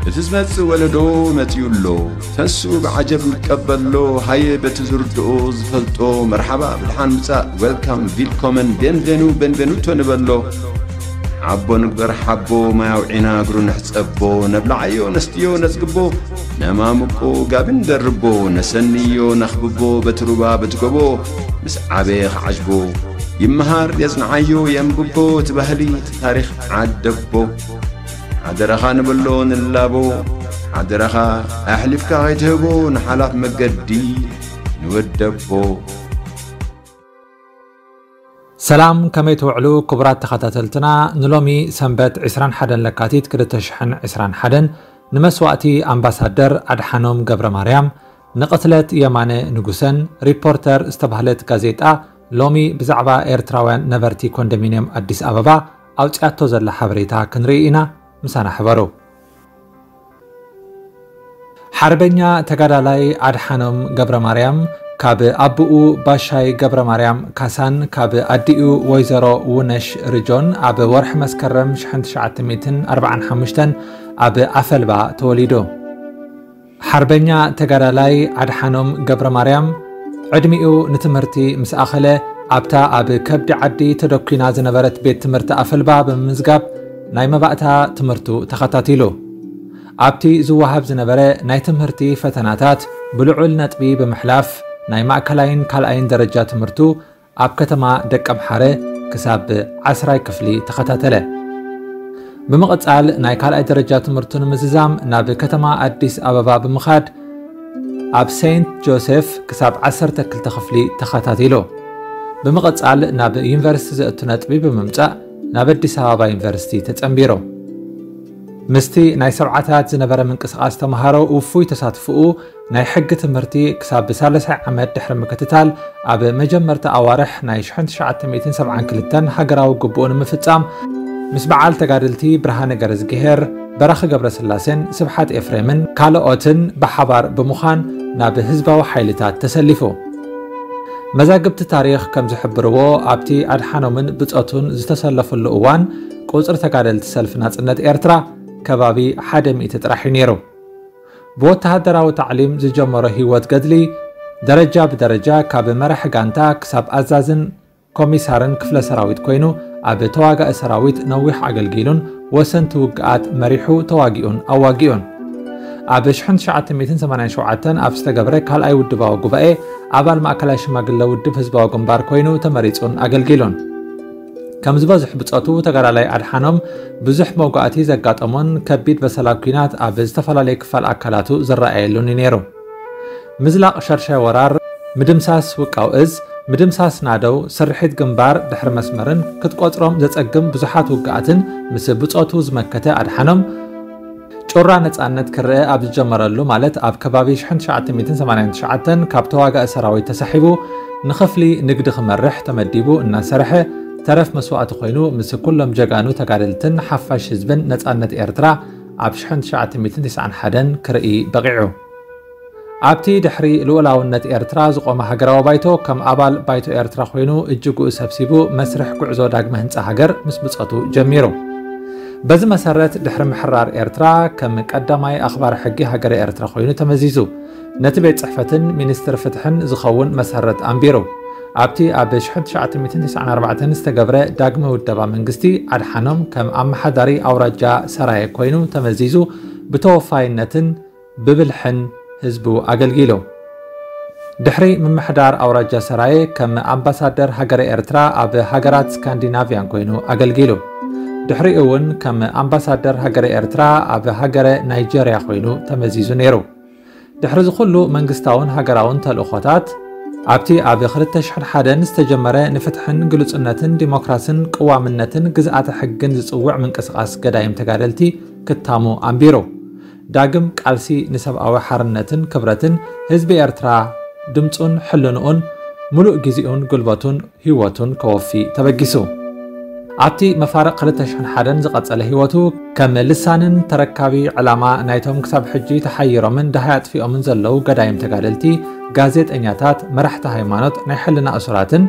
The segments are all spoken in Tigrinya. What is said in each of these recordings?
እቲ ዝመጽእ ወለዶ መጺኡ ኣሎ። ተንስኡ ብዓጀብ ንቀበሎ። ሃየ በቲ ዝርድኦ ዝፈልጦ መርሓባ ብድሓን ምጻእ፣ ዌልካም፣ ቪልኮመን፣ ቤንቬኑ፣ ቤንቬኑቶ ንበሎ። ሓቦ ንግበር ሓቦ፣ ማይ ኣውዒና እግሩ ንሕጸቦ። ነብልዓዮ ነስትዮ ነጽግቦ፣ ነማምቆ ጋቢ ንደርቦ። ነሰንዮ ነኽብቦ በቲ ሩባ በቲ ጎቦ። ምስ ዓበየ ክዓጅቦ ይመሃር የጽንዓዮ የንብቦ። እቲ ባህሊ እቲ ታሪኽ ዓደቦ። ሓደራኻ ንብሎ ንላቦ። ሓደራኻ ኣሕሊፍካ ከይትህቦ ንሓላፍ መገዲ ንወደቦ። ሰላም፣ ከመይ ትውዕሉ ክቡራት ተኸታተልትና? ንሎሚ ሰንበት ዕስራን ሓደን ለካቲት ክልተ ሽሕን ዕስራን ሓደን ንመስዋእቲ ኣምባሳደር ኣድሓኖም ገብረ ማርያም፣ ንቕትለት የማነ ንጉሰን ሪፖርተር ዝተባህለት ጋዜጣ ሎሚ ብዛዕባ ኤርትራውያን ነበርቲ ኮንዶሚንየም ኣዲስ ኣበባ ኣውጺኣቶ ዘላ ሓበሬታ ክንርኢ ኢና። ምሳና ሕበሩ። ሓርበኛ ተጋዳላይ ኣድሓኖም ገብረ ማርያም ካብ ኣቦኡ ባሻይ ገብረ ማርያም ካሳን ካብ ኣዲኡ ወይዘሮ ውነሽ ርጆን ኣብ ወርሒ መስከረም ሽሕን ትሽዓተ ሚእትን ኣርባዓን ሓሙሽተን ኣብ ኣፈልባ ተወሊዱ። ሓርበኛ ተጋዳላይ ኣድሓኖም ገብረ ማርያም ዕድሚኡ ንትምህርቲ ምስ ኣኸለ ኣብታ ኣብ ከብዲ ዓዲ ተደኲና ዝነበረት ቤት ትምህርቲ ኣፈልባ ብምምዝጋብ ናይ መባእታ ትምህርቱ ተኸታቲሉ። ኣብቲ ዝወሃብ ዝነበረ ናይ ትምህርቲ ፈተናታት ብልዑል ነጥቢ ብምሕላፍ ናይ ማእከላይን ካልኣይን ደረጃ ትምህርቱ ኣብ ከተማ ደቀምሓረ ክሳብ ዓስራይ ክፍሊ ተኸታተለ። ብምቕጻል ናይ ካልኣይ ደረጃ ትምህርቱ ንምዝዛም ናብ ከተማ ኣዲስ ኣበባ ብምኻድ ኣብ ሴንት ጆሴፍ ክሳብ ዓሰርተ ክልተ ክፍሊ ተኸታቲሉ። ብምቕጻል ናብ ዩኒቨርሲቲ ዘእቱ ነጥቢ ብምምጻእ ናብ ኣዲስ ኣበባ ዩኒቨርሲቲ ተጸንቢሩ። ምስቲ ናይ ሰብዓታት ዝነበረ ምንቅስቓስ ተምሃሮ ውፉይ ተሳትፍኡ ናይ ሕጊ ትምህርቲ ክሳብ ሳልሳይ ዓመት ድሕሪ ምክትታል ኣብ መጀመርታ ኣዋርሕ ናይ ሽሕን ትሽዓተ ሚእትን ሰብዓን ክልተን ሃገራዊ ግቡኡ ንምፍጻም ምስ በዓል ተጋደልቲ ብርሃነ ገረዝግሄር፣ በራኺ ገብረስላሴን ስብሓት ኤፍሬምን ካልኦትን ብሓባር ብምዃን ናብ ህዝባዊ ሓይልታት ተሰሊፉ። መዛግብቲ ታሪኽ ከም ዝሕብርዎ ኣብቲ ኣድሓኖምን ብጾቱን ዝተሰለፍሉ እዋን ቁጽሪ ተጋደልቲ ሰልፊ ናጽነት ኤርትራ ከባቢ ሓደ ሚእቲ ጥራሕ እዩ ነይሩ። ብወተሃደራዊ ታዕሊም ዝጀመሮ ህይወት ገድሊ ደረጃ ብደረጃ ካብ መራሒ ጋንታ ክሳብ ኣዛዝን ኮሚሳርን ክፍለ ሰራዊት ኮይኑ ኣብ ተዋጋኢ ሰራዊት ነዊሕ ኣገልጊሉን ወሰንቲ ውግኣት መሪሑ ተዋጊኡን ኣዋጊኡን። ኣብ ሽሕን ትሽዓተ ሚእትን ሰማንያን ሸውዓተን ኣብ ዝተገብረ ካልኣይ ውድባዊ ጉባኤ ኣባል ማእከላይ ሽማግለ ውድብ ህዝባዊ ግንባር ኮይኑ ተመሪጹን ኣገልጊሉን። ከም ዝበዝሕ ብጾቱ ተጋዳላይ ኣድሓኖም ብዙሕ መውጋእቲ ዘጋጠሞን ከቢድ በሰላ ኲናት ኣብ ዝተፈላለየ ክፋል ኣካላቱ ዝረኣየሉን እዩ ነይሩ። ምዝላቕ ሸርሻይ ወራር፣ ምድምሳስ ውቃው እዝ፣ ምድምሳስ ናደው፣ ስርሒት ግንባር ድሕሪ መስመርን ክትቆጽሮም ዘጸግም ብዙሓት ውግኣትን ምስ ብጾቱ ዝመከተ ኣድሓኖም፣ ጩራ ነጻነት ክረአ ኣብ ዝጀመረሉ፣ ማለት ኣብ ከባቢ ሽሕን ትሽዓተ ሚእትን ሰማንያን ትሽዓተን ካብ ተዋጋኢ ሰራዊት ተሳሒቡ ንኽፍሊ ንግዲ ክመርሕ ተመዲቡ እናሰርሐ፣ ተረፍ መስዋእቲ ኮይኑ ምስ ኩሎም ጀጋኑ ተጋደልትን ሓፋሽ ህዝብን ነጻነት ኤርትራ ኣብ ሽሕን ትሽዓተ ሚእትን ተስዓን ሓደን ክርኢ በቒዑ። ኣብቲ ድሕሪ ልኡላውነት ኤርትራ ዝቖመ ሃገራዊ ባይቶ ከም ኣባል ባይቶ ኤርትራ ኮይኑ እጅግኡ ሰብሲቡ መስርሕ ጉዕዞ ዳግመ ህንጻ ሃገር ምስ ብጾቱ ጀሚሩ። በዚ መሰረት ድሕሪ ምሕራር ኤርትራ ከም ቀዳማይ ኣኽባሪ ሕጊ ሃገረ ኤርትራ ኮይኑ ተመዚዙ። ነቲ ቤት ጽሕፈትን ሚኒስትሪ ፍትሕን ዝኸውን መሰረት ኣንቢሩ። ኣብቲ ኣብ ሽሕን ትሽዓተ ሚእትን ተስዓን ኣርባዕተን ዝተገብረ ዳግመ ውደባ መንግስቲ ኣድሓኖም ከም ኣመሓዳሪ ኣውራጃ ሰራየ ኮይኑ ተመዚዙ ብተወፋይነትን ብብልሕን ህዝቡ ኣገልጊሉ። ድሕሪ ምምሕዳር ኣውራጃ ሰራየ ከም ኣምባሳደር ሃገረ ኤርትራ ኣብ ሃገራት ስካንዲናቭያን ኮይኑ ኣገልጊሉ። ድሕሪኡ እውን ከም ኣምባሳደር ሃገረ ኤርትራ ኣብ ሃገረ ናይጀርያ ኮይኑ ተመዚዙ ነይሩ። ድሕሪ እዚ ኩሉ መንግስታውን ሃገራውን ተልእኾታት፣ ኣብቲ ኣብ ክልተ ሽሕን ሓደን ዝተጀመረ ንፍትሕን ግሉጽነትን ዲሞክራስን ቅዋምነትን ግዝኣተ ሕግን ዝጽውዕ ምንቅስቓስ ገዳይም ተጋደልቲ ክታሙ ኣንቢሩ። ዳግም ቃልሲ ንሰብኣዊ ሓርነትን ክብረትን ህዝቢ ኤርትራ ድምጹን ሕልንኡን ምሉእ ግዜኡን ጉልበቱን ህይወቱን ከወፊ ተበጊሱ። ኣብቲ መፋርቕ ክልተ ሽሕን ሓደን ዝቐጸለ ህይወቱ ከም ልሳንን ተረካቢ ዕላማ ናይቶም ክሳብ ሕጂ ተሓይሮምን ደሃይ ኣጥፊኦምን ዘለዉ ገዳይም ተጋደልቲ፣ ጋዜጠኛታት፣ መራሕቲ ሃይማኖት፣ ናይ ሕልና እሱራትን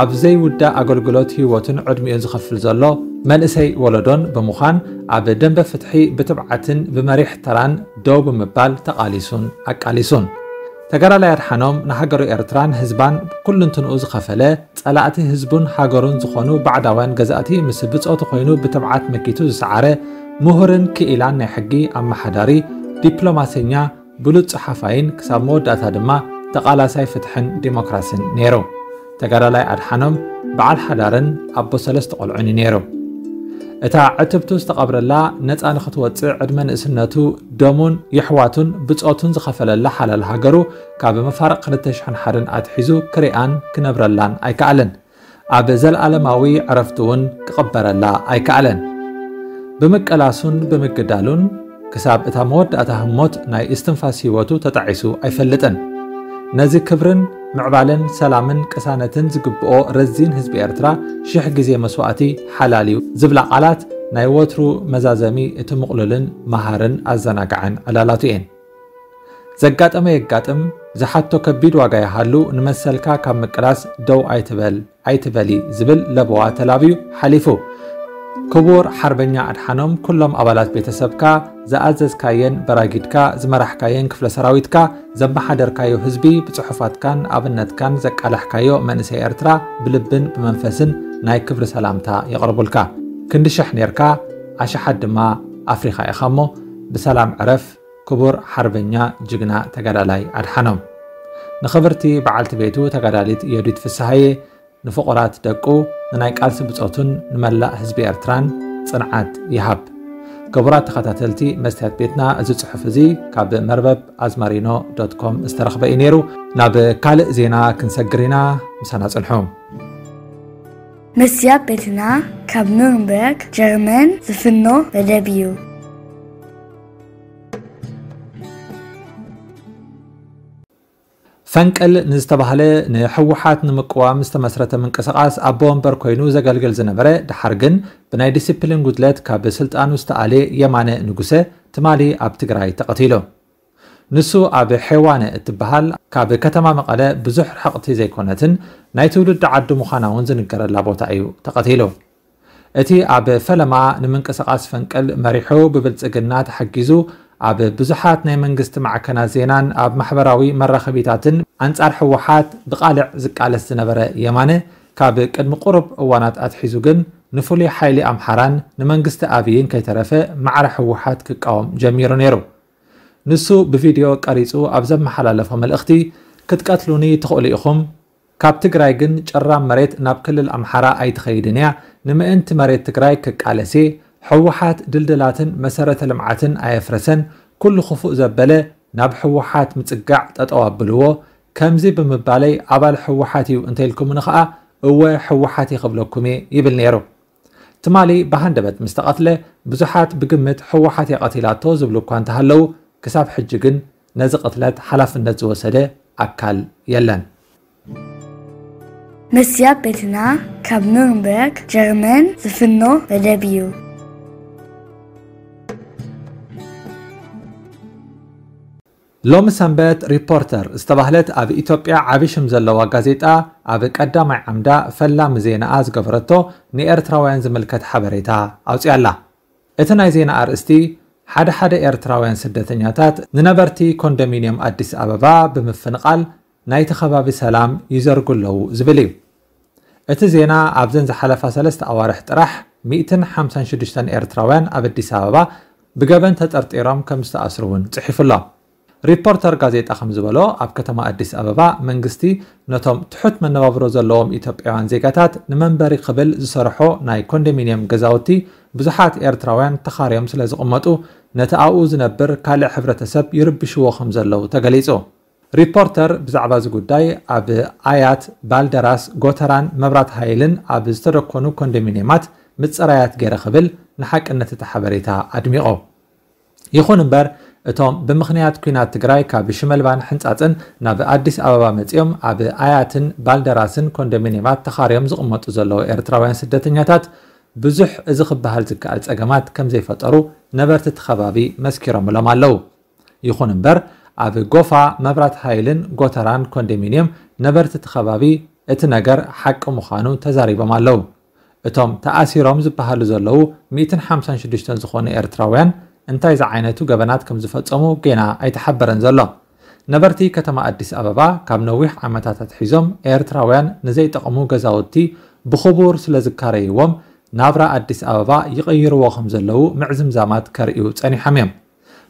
ኣብ ዘይውዳእ ኣገልግሎት ህይወቱን ዕድሚኡን ዝኸፍል ዘሎ መንእሰይ ወለዶን ብምዃን፣ ኣብ ደንበ ፍትሒ ብትብዓትን ብመሪሕ ተራን ደው ብምባል ተቓሊሱን ኣቃሊሱን። ተጋዳላይ ኣድሓኖም ንሃገሩ ኤርትራን ህዝባን ኩልንትንኡ ዝኸፈለ፣ ጸላእቲ ህዝቡን ሃገሩን ዝኾኑ ባዕዳውያን ገዛእቲ ምስ ብጾቱ ኮይኑ ብትብዓት መኪቱ ዝሰዓረ፣ ምሁርን ክኢላን ናይ ሕጊ ኣመሓዳሪ፣ ዲፕሎማሰኛ፣ ብሉጽ ጸሓፋይን ክሳብ መወዳእታ ድማ ተቓላሳይ ፍትሕን ዲሞክራስን ነይሩ። ተጋዳላይ ኣድሓኖም በዓል ሓዳርን ኣቦ ሰለስተ ቆልዑን እዩ ነይሩ። እታ ዕትብቱ ዝተቐብረላ ነጻ ንኽትወጽእ ዕድመ ንእስነቱ ደሙን የሕዋቱን ብጾቱን ዝኸፈለላ ሓላል ሃገሩ ካብ መፋርቕ ክልተ ሽሕን ሓደን ኣትሒዙ ክሪኣን ክነብረላን ኣይከኣለን። ኣብ ዘለኣለማዊ ዕረፍቱ እውን ክቕበረላ ኣይከኣለን። ብምቅላሱን ብምግዳሉን ክሳብ እታ መወዳእታ ህሞት ናይ እስትንፋስ ህይወቱ ተጣዒሱ ኣይፈልጥን። ነዚ ክብርን ምዕባለን ሰላምን ቅሳነትን ዝግብኦ ረዚን ህዝቢ ኤርትራ ሽሕ ግዜ መስዋእቲ ሓላል እዩ ዝብላ ቃላት ናይ ወትሩ መዛዘሚ እቲ ምቕሉልን መሃርን ኣዘናጋዕን ዕላላቱ እየን። ዘጋጠመ የጋጥም፣ ዝሓቶ ከቢድ ዋጋ ይሃሉ፣ ንመሰልካ ካብ ምቅላስ ደው ኣይትበል፣ ኣይትበሊ ዝብል ለበዋ ተላብዩ ሓሊፉ። ክቡር ሓርበኛ ኣድሓኖም፣ ኩሎም ኣባላት ቤተሰብካ፣ ዝኣዘዝካየን በራጊድካ ዝመራሕካየን ክፍለ ሰራዊትካ፣ ዘመሓደርካዮ ህዝቢ፣ ብጽሑፋትካን ኣብነትካን ዘቃላሕካዮ መንእሰይ ኤርትራ ብልብን ብመንፈስን ናይ ክብሪ ሰላምታ የቕርቡልካ። ክንዲ ሽሕ ኔርካ፣ ኣሽሓት ድማ ኣፍሪኻ ኢኻ እሞ፣ ብሰላም ዕረፍ ክቡር ሓርበኛ ጅግና ተጋዳላይ ኣድሓኖም። ንኽብርቲ በዓልቲ ቤቱ ተጋዳሊት ዮዲት ፍስሃየ፣ ንፍቑራት ደቁ፣ ንናይ ቃልሲ ብጾቱን ንመላእ ህዝቢ ኤርትራን ጽንዓት ይሃብ። ክቡራት ተኸታተልቲ መስትያት ቤትና፣ እዚ ጽሑፍ እዚ ካብ መርበብ ኣዝማሪኖ ዶት ኮም ዝተረኽበ እዩ ነይሩ። ናብ ካልእ ዜና ክንሰግር ኢና፣ ምሳና ጽንሑ። መስትያት ቤትና ካብ ኑርንበርግ ጀርመን ዝፍኖ መደብ እዩ። ፈንቅል ንዝተባህለ ንህወሓት ንምቅዋም ዝተመስረተ ምንቅስቓስ ኣቦ ወንበር ኮይኑ ዘገልግል ዝነበረ፣ ድሓር ግን ብናይ ዲሲፕሊን ጉድለት ካብ ስልጣኑ ዝተኣልየ የማነ ንጉሰ ትማሊ ኣብ ትግራይ ተቐቲሉ። ንሱ ኣብ ሔዋነ እትበሃል ካብ ከተማ መቐለ ብዙሕ ርሕቕቲ ዘይኮነትን ናይ ትውልዲ ዓዱ ምዃና እውን ዝንገረላ ቦታ እዩ ተቐቲሉ። እቲ ኣብ ፈለማ ንምንቅስቓስ ፈንቅል መሪሑ ብብልጽግና ተሓጊዙ ኣብ ብዙሓት ናይ መንግስቲ ማዕከናት ዜናን ኣብ ማሕበራዊ መራኸቢታትን ኣንጻር ህወሓት ብቓልዕ ዝቃለስ ዝነበረ የማነ፣ ካብ ቅድሚ ቁሩብ እዋናት ኣትሒዙ ግን ንፍሉይ ሓይሊ ኣምሓራን ንመንግስቲ ኣብይን ከይተረፈ ማዕረ ህወሓት ክቃወም ጀሚሩ ነይሩ። ንሱ ብቪድዮ ቀሪጹ ኣብ ዘመሓላለፎ መልእኽቲ፣ "ክትቀትሉኒ ትኽእሉ ኢኹም፣ ካብ ትግራይ ግን ጭራም መሬት ናብ ክልል ኣምሓራ ኣይትኸይድን እያ፣ ንምእንቲ መሬት ትግራይ ክቃለስ እየ፣ ህወሓት ድልድላትን መሰረተ ልምዓትን ኣየፍረሰን፣ ኩሉ ክፉእ ዘበለ ናብ ህወሓት ምጽጋዕ ጠጠው ኣብልዎ፣ ከምዚ ብምባለይ ኣባል ህወሓት እዩ እንተኢልኩምኒ ኸኣ እወ ህወሓት እየ ክብለኩም እየ" ይብል ነይሩ። ትማሊ ብሃንደበት ምስ ተቐትለ፣ ብዙሓት ብግምት ህወሓት እያ ቀቲላቶ ዝብሉ እኳ እንተሃለዉ፣ ክሳብ ሕጂ ግን ነዚ ቅትለት ሓላፍነት ዝወሰደ ኣካል የለን። መስትያት ቤትና ካብ ኑርንበርግ ጀርመን ዝፍኖ መደብ እዩ። ሎሚ ሰንበት ሪፖርተር ዝተባህለት ኣብ ኢትዮጵያ ዓቢ ሽም ዘለዋ ጋዜጣ ኣብ ቀዳማይ ዓምዳ ፈላሚ ዜናኣ ዝገበረቶ ንኤርትራውያን ዝምልከት ሓበሬታ ኣውጺኣ ኣላ። እቲ ናይ ዜና ኣርእስቲ፣ ሓደ ሓደ ኤርትራውያን ስደተኛታት ንነበርቲ ኮንዶሚንየም ኣዲስ ኣበባ ብምፍንቓል ናይቲ ከባቢ ሰላም ይዘርጉ ኣለዉ ዝብል እዩ። እቲ ዜና ኣብዘን ዝሓለፋ ሰለስተ ኣዋርሕ ጥራሕ ሚእትን ሓምሳን ሽዱሽተን ኤርትራውያን ኣብ ኣዲስ ኣበባ ብገበን ተጠርጢሮም ከም ዝተኣስሩ እውን ጽሒፉ ኣሎ። ሪፖርተር ጋዜጣ ከም ዝበሎ፣ ኣብ ከተማ ኣዲስ ኣበባ መንግስቲ ነቶም ትሑት መነባብሮ ዘለዎም ኢትዮጵያውያን ዜጋታት ንመንበሪ ክብል ዝሰርሖ ናይ ኮንዶሚንየም ገዛውቲ ብዙሓት ኤርትራውያን ተኻርዮም ስለ ዝቕመጡ፣ ነቲ ኣብኡ ዝነብር ካልእ ሕብረተሰብ ይርብሽዎ ከም ዘለዉ ተገሊጹ። ሪፖርተር ብዛዕባ እዚ ጉዳይ ኣብ ኣያት፣ ባልደራስ፣ ጎተራን መብራት ሃይልን ኣብ ዝተደኮኑ ኮንዶሚንየማት ምጽራያት ገይረ ክብል ንሓቅነት እቲ ሓበሬታ ኣድሚቑ። ይኹን እምበር፣ እቶም ብምኽንያት ኲናት ትግራይ ካብ ሽመልባን ሕንጻጽን ናብ ኣዲስ ኣበባ መጺኦም ኣብ ኣያትን ባልደራስን ኮንዶሚንየማት ተኻርዮም ዝቕመጡ ዘለዉ ኤርትራውያን ስደተኛታት ብዙሕ እዚ ክበሃል ዝከኣል ጸገማት ከም ዘይፈጠሩ ነበርቲ እቲ ከባቢ መስኪሮምሎም ኣለዉ። ይኹን እምበር፣ ኣብ ጎፋ፣ መብራት ሃይልን ጎተራን ኮንዶሚንየም ነበርቲ እቲ ከባቢ እቲ ነገር ሓቂ ምዃኑ ተዛሪቦም ኣለዉ። እቶም ተኣሲሮም ዝበሃሉ ዘለዉ ሚእትን ሓምሳን ሽዱሽተን ዝኾኑ ኤርትራውያን እንታይ ዝዓይነቱ ገበናት ከም ዝፈጸሙ ጌና ኣይተሓበረን ዘሎ። ነበርቲ ከተማ ኣዲስ ኣበባ ካብ ነዊሕ ዓመታት ኣትሒዞም ኤርትራውያን ንዘይጠቕሙ ገዛውቲ ብኽቡር ስለ ዝካረይዎም ናብራ ኣዲስ ኣበባ ይቕይርዎ ከም ዘለዉ ምዕዝምዛማት ከርእዩ ጸኒሖም እዮም።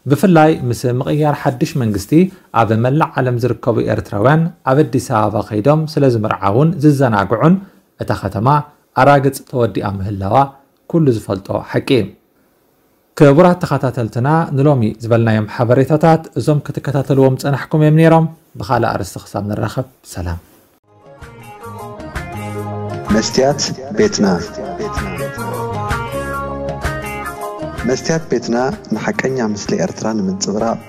ብፍላይ ምስ ምቕያር ሓድሽ መንግስቲ ኣብ መላእ ዓለም ዝርከቡ ኤርትራውያን ኣብ ኣዲስ ኣበባ ከይዶም ስለ ዝምርዓውን ዝዘናግዑን እታ ከተማ ኣራግጽ ተወዲኣ ምህላዋ ኩሉ ዝፈልጦ ሓቂ እዩ። ክቡራት ተኸታተልትና ንሎሚ ዝበልናዮም ሓበሬታታት እዞም ክትከታተልዎም ጸናሕኩም እዮም ነይሮም። ብኻልእ ኣርእስቲ ክሳብ ንራኸብ ሰላም። መስትያት ቤትና መስትያት ቤትና ንሓቀኛ ምስሊ ኤርትራ ንምንጽብራቕ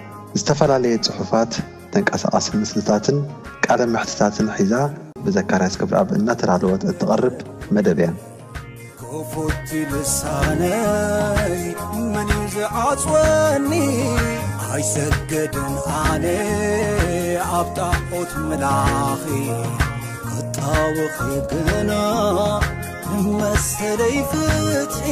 ዝተፈላለየ ጽሑፋት፣ ተንቀሳቓሲ ምስልታትን ቃለ መሕትታትን ሒዛ ብዘካርያስ ገብረኣብ እናተዳለወት እትቐርብ መደብ እያ። ክፉት ልሳነይ መን እዩ ዝዓጽወኒ? ኣይሰገድን ኣነ ኣብ ጣዖት ምላኺ ክጣወኺ ግና ንመሰለይ ፍትሒ